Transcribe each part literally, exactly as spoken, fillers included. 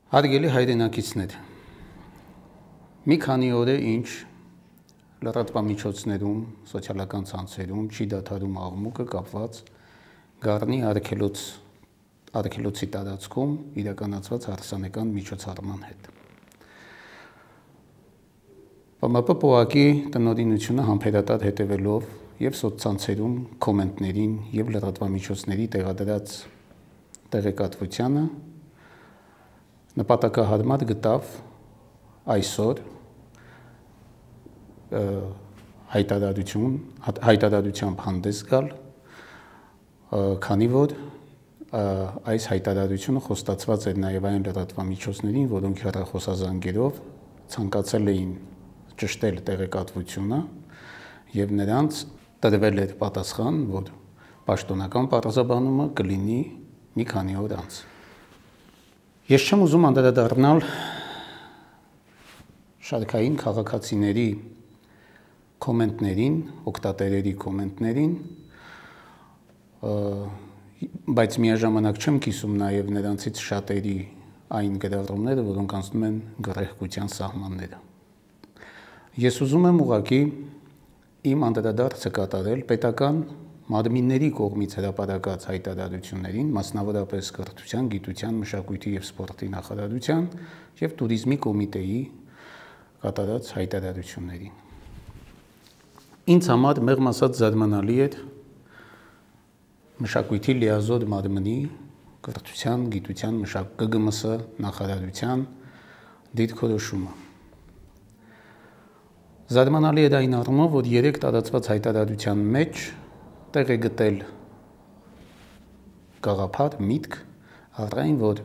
Հարգելի հայրենակիցներ, մի քանի օր է ինչ լրատվամիջոցներում, սոցիալական ցանցերում չի դադարում աղմուկը կապված Գառնի արգելոց, արգելոցի տարածքում իրականացված հարսանեկան միջոցառման հետ։ Պ M P պողակի տնօրինությունը համբերատար հետևելով եւ սոցցանցերում կոմենտներին եւ լրատվամիջոցների տեղադրած տեղեկատվությանը նպատակահարմար գտավ այսօր հայտարարություն, հայտարարությամբ հանդես գալ, քանի որ այս հայտարարությունը խոստացված էր նաև այն լրատվամիջոցներին, որոնք հեռախոսազանգերով ցանկացել էին ճշտել տեղեկատվությունը եւ նրանց տրվել էր պատասխան, որ պաշտոնական պարզաբանումը կլինի մի քանի օր անց։ Ես չեմ ուզում անդրադառնալ շարքային քաղաքացիների կոմենտներին, օգտատերերի կոմենտներին, բայց միաժամանակ չեմ կիսում նաև նրանցից շատերի այն գրառումները, որոնք անցնում են գռեհկության սահմանները։ Ես ուզում եմ ուղղակի իմ անդրադարձը կատարել պետական մարմինների կողմից հրապարակած հայտարարություններին, մասնավորապես կրթության, գիտության, մշակույթի եւ սպորտի նախարարության եւ туриզմի կոմիտեի կատարած հայտարարություններին։ Ինձ համար մեղմ ասած զարմանալի է մշակույթի լիազոր մարմնի կրթության, գիտության, մշակույթի G G M S նախարարության դիրքորոշումը։ Զարմանալի է այն առումով, որ երեք տարածված հայտարարության մեջ տեղ է գտել գաղափար, միտք, առայն որ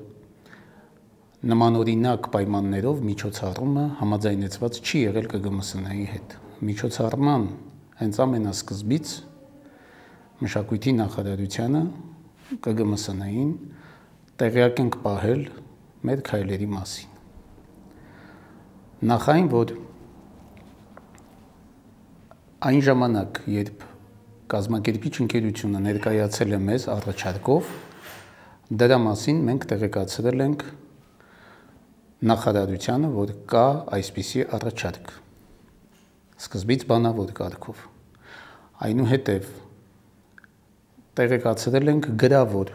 նմանօրինակ պայմաններով միջոցառումը համաձայնեցված չի եղել G G M S-ի հետ։ Միջոցառման հենց ամենասկզբից մշակույթի նախարարությանը G G M S-ին տեղյակ ենք պահել մեր քայլերի մասին։ Նախ այն, որ այն ժամանակ, երբ կազմակերպիչ ընկերությունը ներկայացել է մեզ առաջարկով, դրա մասին մենք տեղեկացրել ենք նախարարությանը, որ կա այսպիսի առաջարկ, սկզբից բանավոր կարգով։ Այնուհետև տեղեկացրել ենք գրավոր,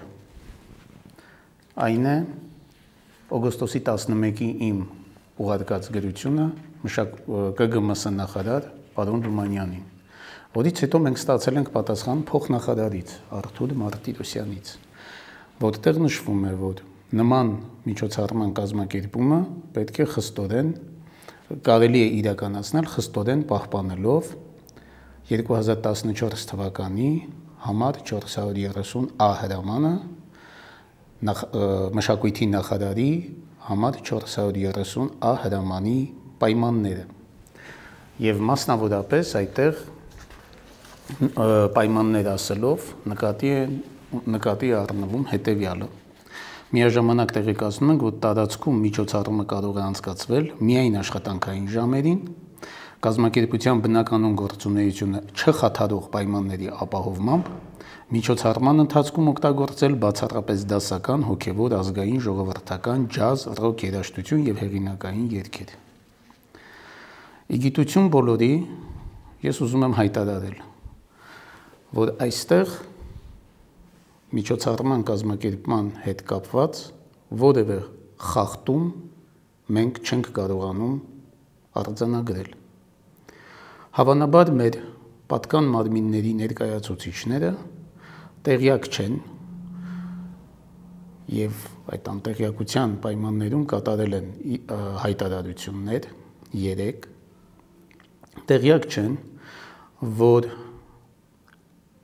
այն է օգոստոսի տասնմեկի իմ ուղարկած գրությունը G G M S նախարար պարոն Ռումանյանին, որից հետո մենք ստացել ենք պատասխան փոխնախարարից Արթուր Մարտիրոսյանից, որտեղ նշվում է, որ նման միջոցառման կազմակերպումը պետք է խստորեն կարելի է իրականացնել խստորեն պահպանելով երկու հազար տասնչորս թվականի համար չորս հարյուր երեսուն A հրամանը մշակույթի նախարարի համար չորս հարյուր երեսուն A հրամանի պայմանները եւ մասնավորապես այդտեղ պայմաններ ասելով նկատի է նկատի առնվում հետեւյալը։ Միաժամանակ տեղեկացնում ենք, որ տարածքում միջոցառումը կարող է անցկացվել միայն աշխատանքային ժամերին, կազմակերպության բնականon գործունեությունը չխաթարող պայմանների ապահովմամբ, միջոցառման ընթացքում օգտագործել բացառապես դասական, հոգևոր, ազգային, ժողովրդական, ջազ, ռոք երաժշտություն եւ հեղինակային երգեր։ Իգիտություն բոլորի, ես ուզում եմ հայտարարել, որ այստեղ միջոցառման կազմակերպման հետ կապված որևէ խախտում մենք չենք կարողանում արձանագրել։ Հավանաբար մեր պատկան մարմինների ներկայացուցիչները տեղյակ չեն եւ այդ անտեղյակության պայմաններում կատարել են հայտարարություններ երեք, տեղյակ չեն, որ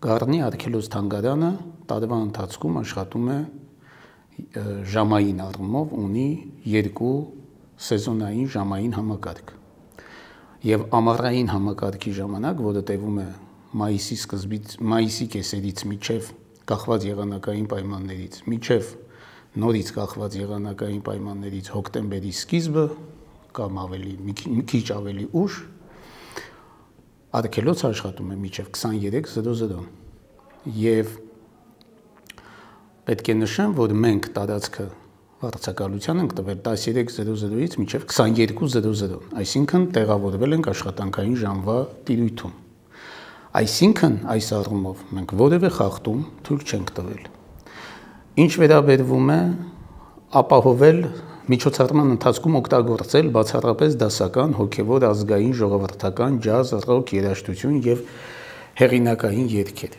Գառնի արգելոց թանգարանը տարվա ընթացքում աշխատում է ժամային առումով ունի երկու սեզոնային ժամային համակարգ եւ ամառային համակարգի ժամանակ, որը տևում է մայիսի սկզբից մայիսի կեսերից մինչեւ կախված եղանակային պայմաններից մինչեւ նորից կախված եղանակային պայմաններից հոկտեմբերի սկիզբը կամ ավելի մի քիչ ավելի ուշ արգելոցը աշխատում է մինչեւ քսաներեք զրո զրո եւ պետք է նշեմ, որ մենք տարածքը վարձակալության ենք տվել տասներեք զրո զրոից մինչև քսաներկու զրո զրո, այսինքն տեղավորվել ենք աշխատանքային ժամվա տիրույթում։ Այսինքն այս առումով մենք որևէ խախտում թույլ չենք տվել։ Ինչ վերաբերվում է ապահովել միջոցառման ընթացքում օգտագործել բացառապես դասական, հոգևոր, ազգային, ժողովրդական, ջազ, ռոք, երաժշտություն եւ հեղինակային երգեր։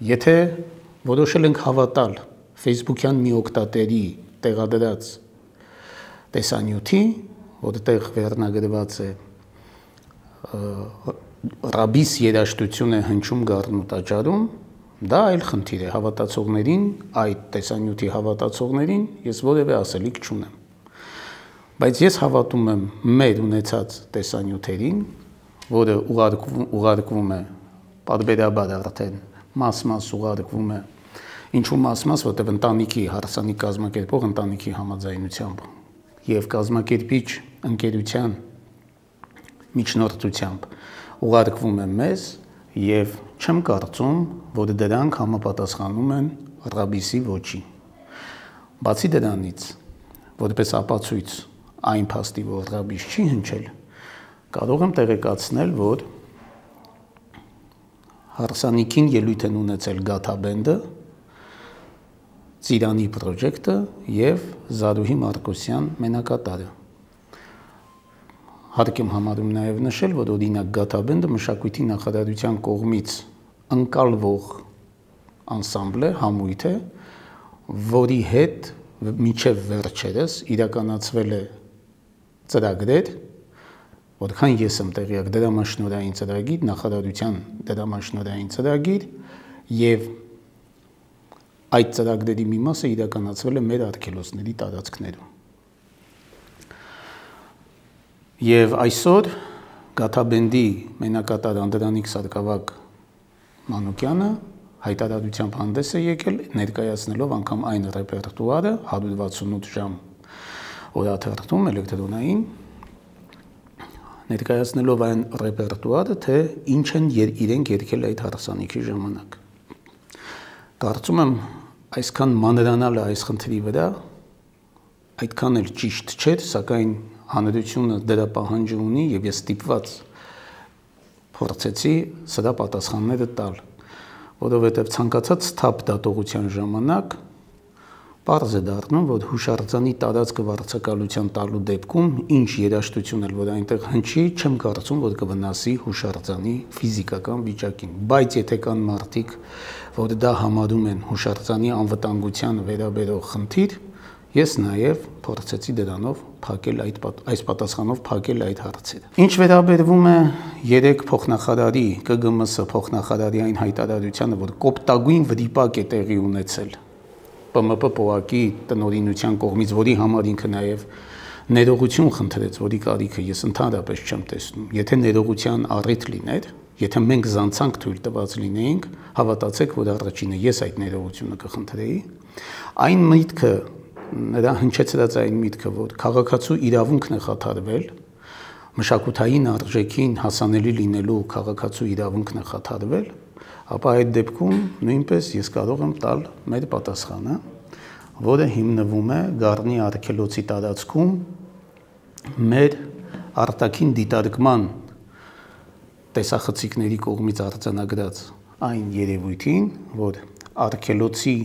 Եթե որոշել ենք հավատալ Facebook-յան մի օգտատերի տեղադրած տեսանյութի, որտեղ վերնագրված է ռաբիս երաժշտություն է հնչում գառն ու տաճարում, դա այլ խնդիր է, հավատացողներին, այդ տեսանյութի հավատացողներին ես որևէ ասելիք չունեմ։ Բայց ես հավատում եմ մեր ունեցած տեսանյութերին, որը ուղարկվում է պարբերաբար արդեն մաս-մաս ուղարկվում է, ինչու մաս-մաս, որտեղ ընտանիքի հարսանիք կազմակերպող ընտանիքի համաձայնությամբ եւ կազմակերպիչ ընկերության միջնորդությամբ ուղարկվում է մեզ եւ չեմ կարծում, որ դրանք համապատասխանում են ռաբիսի ոճին։ Բացի դրանից, որպես ապացույց այն փաստի, որ ռաբիս չի հնչել, կարող եմ տեղեկացնել, որ հարսանիքին ելույթ են ունեցել Գաթաբենդը, Ծիրանի պրոջեկտը եւ Զարուհի Մարկոսյան մենակատարը։ Հարկ եմ համարում նաեւ նշել, որ օրինակ Գաթաբենդը մշակույթի նախարարության կողմից ընկալվող անսամբլ է, համույթ է, որի հետ մինչև վերջերս իրականացվել է ծրագրեր, որքան ես եմ տեղյակ, դրամաշնորհային ծրագիր, նախարարության դրամաշնորհային ծրագիր եւ այդ ծրագրերի մի մասը իրականացվել է մեր արգելոցների տարածքներում։ Եվ այսօր Գաթաբենդի մենակատար Անդրանիկ Սարգսակ Մանուկյանը հայտարարությամբ հանդես է եկել, ներկայացնելով անգամ այն ռեպերտուարը հարյուր վաթսունութ ժամ օրաթերթում էլեկտրոնային, ներկայացնելով այն ռեպերտուարը, թե ինչ են իրենք երգել այդ հարսանիքի ժամանակ։ Կարծում եմ այսքան մանրանալը այս խնդրի վրա այդքան էլ ճիշտ չէր, սակայն հանրությունը դրա պահանջը ունի եւ ես ստիպված փորձեցի սրա պատասխանները տալ, որովհետեւ ցանկացած թափ դատողության ժամանակ պարզ է դառնում, որ հուշարձանի տարածքը վարձակալության տալու դեպքում ինչ երաժշտություն էլ որ այնտեղ հնչի, չեմ կարծում, որ կվնասի հուշարձանի ֆիզիկական վիճակին, բայց եթե կան մարդիկ, որ դա համարում են հուշարձանի անվտանգությանը վերաբերող խնդիր, ես նաև փորձեցի դրանով փակել այդ այս պատասխանով փակել այդ հարցերը։ Ինչ վերաբերվում է երեք փոխնախարարի Կ Գ M S փոխնախարարի այն հայտարարությանը, որ կոպտագույն վրիպակ է տեղի ունեցել P M P պոակի տնօրինության կողմից, որի համար ինքը նաև ներողություն խնդրեց, որի կարիքը ես ընդհանրապես չեմ տեսնում։ Եթե ներողության առիթ լիներ, եթե մենք զանցանք թույլ տված լինեինք, հավատացեք, որ առաջինը ես այդ ներողությունը կխնդրեի, այն միտքը նրա հնչեցրած այն միտքը, որ քաղաքացու իրավունքն է խաթարվել, մշակութային արժեքին հասանելի լինելու քաղաքացու իրավունքն է խաթարվել, ապա այդ դեպքում նույնպես ես կարող եմ տալ մեր պատասխանը, որը հիմնվում է Գառնի արգելոցի տարածքում մեր արտաքին դիտարկման տեսախցիկների կողմից արձանագրած այն երևույթին, որ արգելոցի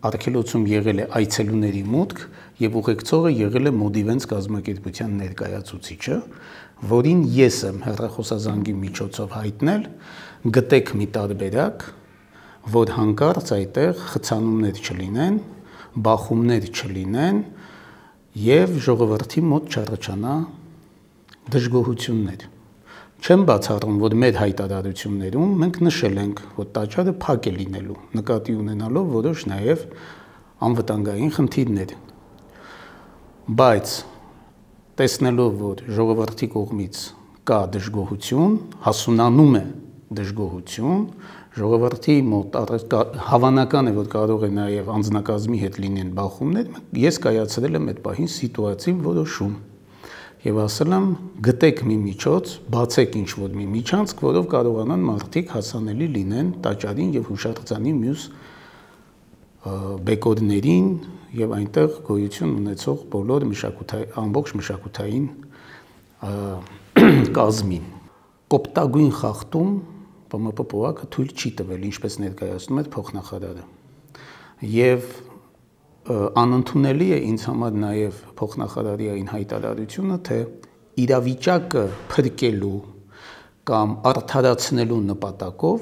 արգելոցում եղել է այցելուների մուտք եւ ուղեկցողը եղել է Մոդիվենց կազմակերպության ներկայացուցիչը, որին ես եմ հեռախոսազանգի միջոցով հայտնել, գտեք մի տարբերակ, որ հանկարծ այդտեղ խցանումներ չլինեն, բախումներ չլինեն եւ ժողովրդի մոտ չառաջանա դժգոհություններ։ Չեմ բացառում, որ մեր հայտարարություններում մենք նշել ենք, որ տաճարը փակ է լինելու, նկատի ունենալով որոշ նաև անվտանգային խնդիրներ։ Բայց տեսնելով, որ ժողովրդի կողմից կա դժգոհություն, հասունանում է դժգոհություն, ժողովրդի մոտ հավանական է, որ կարող է նաև անձնակազմի հետ լինեն բախումներ, ես կայացրել եմ այդ պահին սիտուացիվ որոշում։ Եվ ասել եմ, գտեք մի միջոց, բացեք ինչ-որ մի միջանցք, որով կարողանան մարդիկ հասանելի լինեն տաճարին եւ հուշարձանի մյուս բեկորներին եւ այնտեղ գոյություն ունեցող բոլոր մշակութային ամբողջ մշակութային կազմին։ Կոպտագույն խախտում Պ M P պողակը թույլ չի տվել, ինչպես ներկայացնում է փոխնախարարը։ Եվ անընդունելի է ինձ համար նաեւ փոխնախարարի այն հայտարարությունը, թե իրավիճակը փրկելու կամ արդարացնելու նպատակով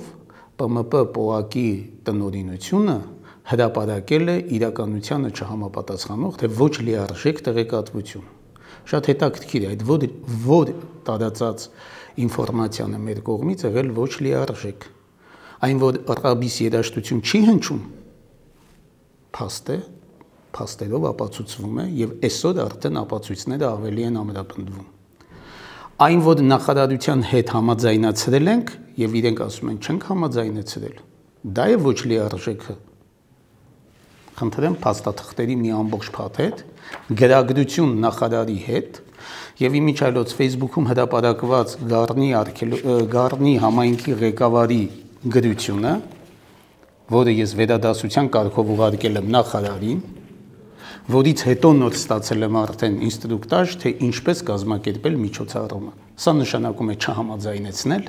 Պ M P պողակի տնօրինությունը հրապարակել է իրականությանը չհամապատասխանող, թե ոչ լիարժեք տեղեկատվություն։ Շատ հետաքրքիր է այդ որ, որ տարածած ինֆորմացիան է մեր կողմից եղել ոչ լիարժեք։ Այն որ ռաբիս երաժշտություն չի հնչում, փաստ է, փաստերով ապացուցվում է եւ այսօր արդեն ապացույցները ավելի են ամրապնդվում։ Այն որ նախարարության հետ համաձայնացրել ենք եւ իրենք ասում են չենք համաձայնեցրել, դա է ոչ լիարժեքը։ Խնդրեմ փաստաթղթերի մի ամբողջ փաթեթ, գրագրություն նախարարի հետ եւ իմիջիայլոց Facebook-ում հրապարակված Գառնի Գառնի համայնքի ղեկավարի գրությունը, որը ես վերադասության կարգով ուղարկել եմ նախարարին, որից հետո նոր ստացել եմ արդեն ինստրուկտաժ, թե ինչպես կազմակերպել միջոցառումը։ Սա նշանակում է չհամաձայնեցնել,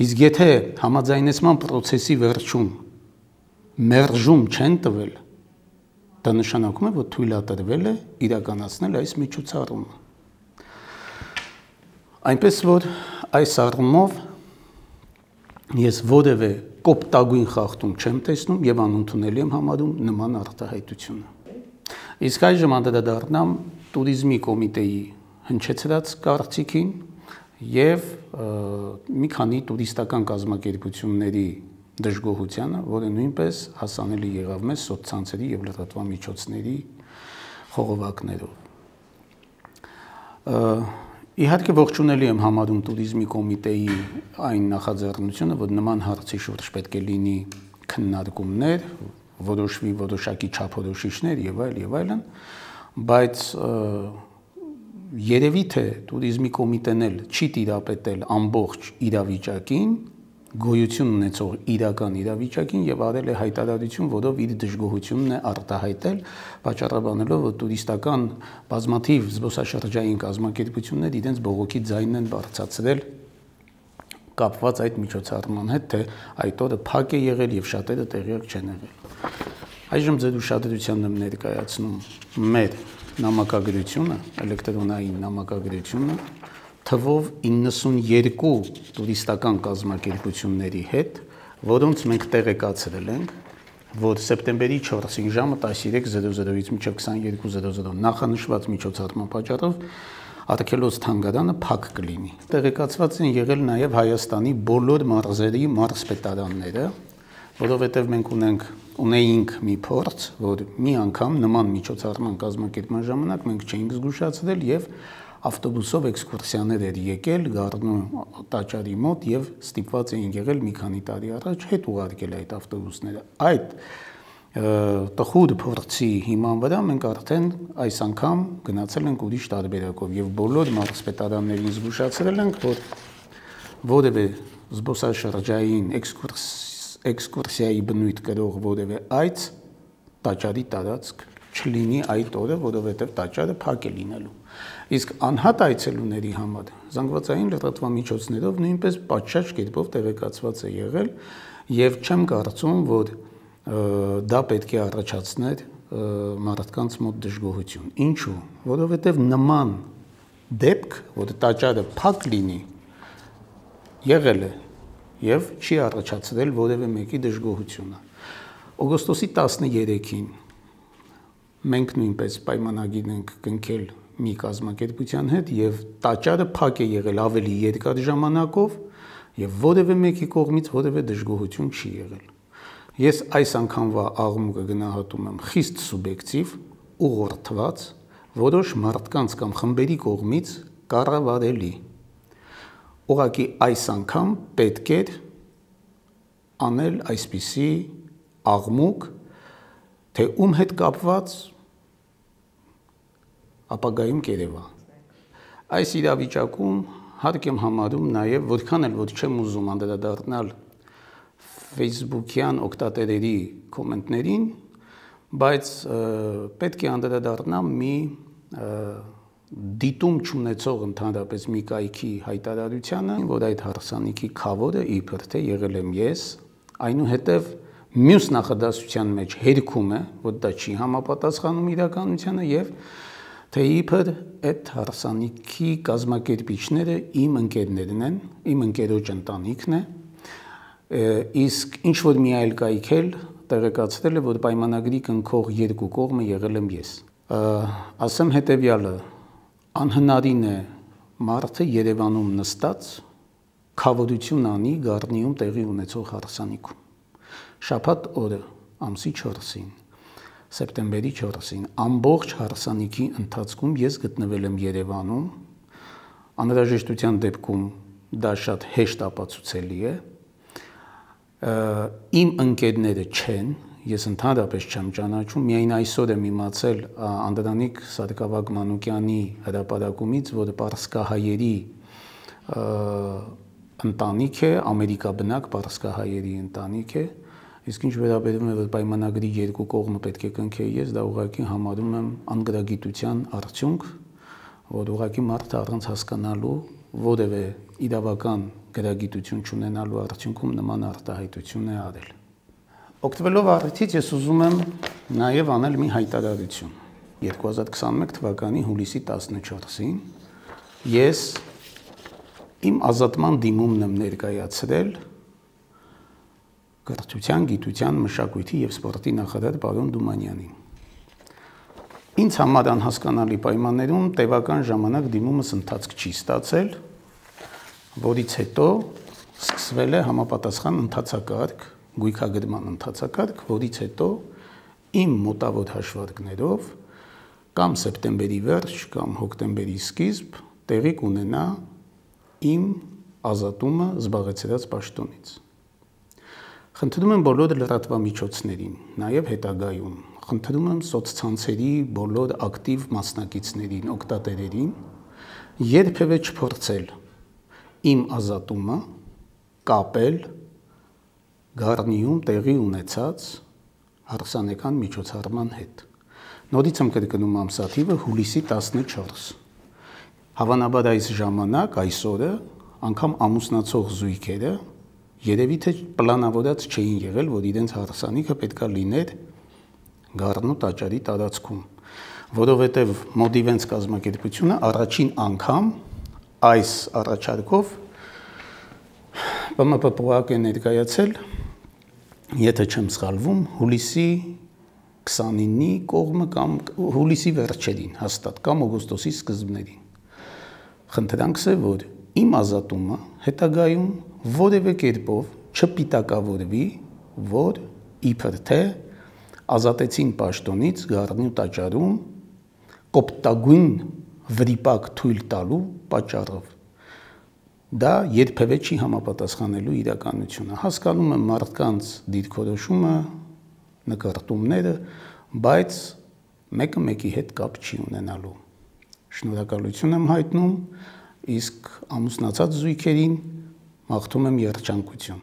իսկ եթե համաձայնեցման process-ի վերջում մերժում չեն տվել, դա նշանակում է, որ թույլատրվել է իրականացնել այս միջոցառումը։ Այնպես որ այս առումով ես որևէ կոպտագույն խախտում չեմ տեսնում եւ անընդունելի եմ համարում նման արտահայտությունը։ Իսկ այժմ անդրադառնամ տուրիզմի կոմիտեի հնչեցրած կարծիքին եւ մի քանի տուրիստական կազմակերպությունների դժգոհությանը, որը նույնպես հասանելի եղավ մեզ սոցցանցերի եւ լրատվամիջոցների խողովակներով։ Իհարկե ողջունելի եմ համարում տուրիզմի կոմիտեի այն նախաձեռնությունը, որ նման հարցի շուրջ պետք է լինի քննարկումներ, որոշվի որոշակի չափորոշիչներ եւ այլ եւ այլն, բայց երևի թե տուրիզմի կոմիտեն էլ չի տիրապետել ամբողջ իրավիճակին, գոյություն ունեցող իրական իրավիճակին եւ արել է հայտարարություն, որով իր դժգոհությունն է արտահայտել, պատճառաբանելով, որ տուրիստական բազմաթիվ զբոսաշրջային կազմակերպություններ իրենց բողոքի ձայնն են բարձրացրել կապված այդ միջոցառման հետ, թե այդ օրը փակ է եղել եւ շատերը տեղյակ չեն եղել։ Այժմ ձեր ուշադրությանն եմ ներկայացնում մեր նամակագրությունը, էլեկտրոնային նամակագրությունը, թվով իննսունյերկու տուրիստական կազմակերպությունների հետ, որոնց մենք տեղեկացրել ենք, որ սեպտեմբերի չորսին ժամը տասնյոթ զրո զրոից մինչև քսաներկու զրո զրո նախանշված միջոցառման պատճառով Արգելոց թանգարանը փակ կլինի։ Տեղեկացված են եղել նաև Հայաստանի բոլոր մարզերի մարզպետարանները, որովհետև մենք ունենք ունեինք մի փորձ, որ մի անգամ նման միջոցառման կազմակերպման ժամանակ մենք չէինք զգուշացրել եւ ավտոբուսով էքսկուրսիաներ էր եկել Գառնու տաճարի մոտ եւ ստիպված էին եղել մի քանի տարի առաջ հետ ուղարկել այդ ավտոբուսները։ Այդ տխուր փորձի հիման վրա մենք արդեն այս անգամ գնացել ենք ուրիշ տարբերակով եւ բոլոր մարզպետարաններին զգուշացրել ենք, որ որևէ զբոսաշրջային էքսկուրսիայի բնույթ կրող որևէ այց տաճարի տարածք չլինի այդ օրը, որովհետեւ տաճարը փակ է լինելու։ Իսկ անհատ այցելուների համար զանգվածային լրատվամիջոցներով նույնպես պատշաճ կերպով տեղեկացված է եղել եւ չեմ կարծում, որ դա պետք է առաջացներ մարդկանց մոտ դժգոհություն։ Ինչու՞, որովհետև նման դեպք, որ տաճարը փակ լինի, եղել է եւ չի առաջացրել որևէ մեկի դժգոհությունը։ Օգոստոսի տասներեքին մենք նույնպես պայմանագիր ենք կնքել մի կազմակերպության հետ եւ տաճարը փակ է եղել ավելի երկար ժամանակով եւ որևէ մեկի կողմից որևէ դժգոհություն չի եղել։ Ես այս անգամվա աղմուկը գնահատում եմ խիստ սուբյեկտիվ, ուղղորդված, որոշ մարդկանց կամ խմբերի կողմից կառավարելի։ Ուղղակի այս անգամ պետք է անել այսպիսի աղմուկ, թե ում հետ կապված ապագայում կերևա։ Այս իրավիճակում հարկ եմ համարում նաև, որքան էլ որ չեմ ուզում անդրադառնալ Facebook-յան օգտատերերի կոմենտներին, բայց պետք է անդրադառնամ մի դիտում չունեցող ընդհանրապես մի կայքի հայտարարությանը, որ այդ հարսանիքի քավորը իբր թե եղել եմ ես, այնուհետև մյուս նախադասության մեջ հերքում է, որ դա չի համապատասխանում իրականությանը եւ թե իբր այդ հարսանիքի կազմակերպիչները իմ ընկերներն են, իմ ընկերոջ ընտանիքն է, իսկ ինչ որ մի այլ կայք էլ տեղեկացրել է, որ պայմանագրի կնքող երկու կողմը եղել եմ ես։ Ասեմ հետեւյալը, անհնարին է մարդը Երևանում նստած քավորություն անի Գառնիում տեղի ունեցող հարսանիքում։ Շաբաթ օրը ամսի չորսին, սեպտեմբերի չորսին, ամբողջ հարսանիքի ընթացքում ես գտնվել եմ Երևանում, անհրաժեշտության դեպքում դա շատ հեշտ ապացուցելի է, իմ ընկերները չեն, ես ընդհանրապես չեմ ճանաչում, միայն այսօր եմ իմացել Անդրանիկ Սարգսակ Մանուկյանի հրապարակումից, որ պարսկահայերի ընտանիք է, ամերիկաբնակ պարսկահայերի ընտանիք է, իսկ ինչ վերաբերում է, որ պայմանագրի երկու կողմը պետք է կնքեի ես, դա ուղղակի համարում եմ անգրագիտության արդյունք, որ ուղղակի մարդը առանց հասկանալու որևէ իրավական գրագիտություն չունենալու արդյունքում նման արտահայտություն է արել։ Օգտվելով առիթից ես ուզում եմ նաև անել մի հայտարարություն։ երկու հազար քսաներկու թվականի հուլիսի տասնչորսին ես իմ ազատման դիմումն եմ ներկայացրել կրթության, գիտության, մշակույթի եւ սպորտի նախարար պարոն Դումանյանին։ Ինձ համար անհասկանալի պայմաններում տևական ժամանակ դիմումս ընթացք չի ստացել, որից հետո սկսվել է համապատասխան ընթացակարգ, գույքագրման ընթացակարգ, որից հետո իմ մոտավոր հաշվարկներով կամ սեպտեմբերի վերջ կամ հոկտեմբերի սկիզբ տեղի կունենա իմ ազատումը զբաղեցրած պաշտոնից։ Խնդրում եմ բոլոր լրատվամիջոցներին, նաև հետագայում, խնդրում եմ սոցցանցերի բոլոր ակտիվ մասնակիցներին, օգտատերերին երբևէ չփորձել իմ ազատումը կապել Գառնիում տեղի ունեցած հարսանեկան միջոցառման հետ։ Նորից եմ կրկնում ամսաթիվը հուլիսի տասնչորս։ Հավանաբար այս ժամանակ, այս օրը, անգամ ամուսնացող զույգերը երևի թե պլանավորած չէին եղել, որ իրենց հարսանիքը պետքա լիներ Գառնու տաճարի տարածքում, որովհետև Մոդիվենց կազմակերպությունը առաջին անգամ այս առաջարկով ԲՄՊՊՈԱԿ է ներկայացել, եթե չեմ սխալվում, հուլիսի քսանինի կողմը կամ հուլիսի վերջերին հաստատ կամ օգոստոսի սկզբներին։ Խնդրանքս է, որ իմ ազատումը հետագայում որևէ կերպով չպիտակավորվի, որ իբր թե ազատեցին պաշտոնից Գառնու տաճարում կոպտագույն վրիպակ թույլ տալու պատճառով։ Դա երբևէ չի համապատասխանելու իրականությունը։ Հասկանում եմ մարդկանց դիրքորոշումը, նկարտումները, բայց մեկը մեկի հետ կապ չի ունենալու։ Շնորհակալություն եմ հայտնում, իսկ ամուսնացած զույգերին մաղթում եմ երջանկություն։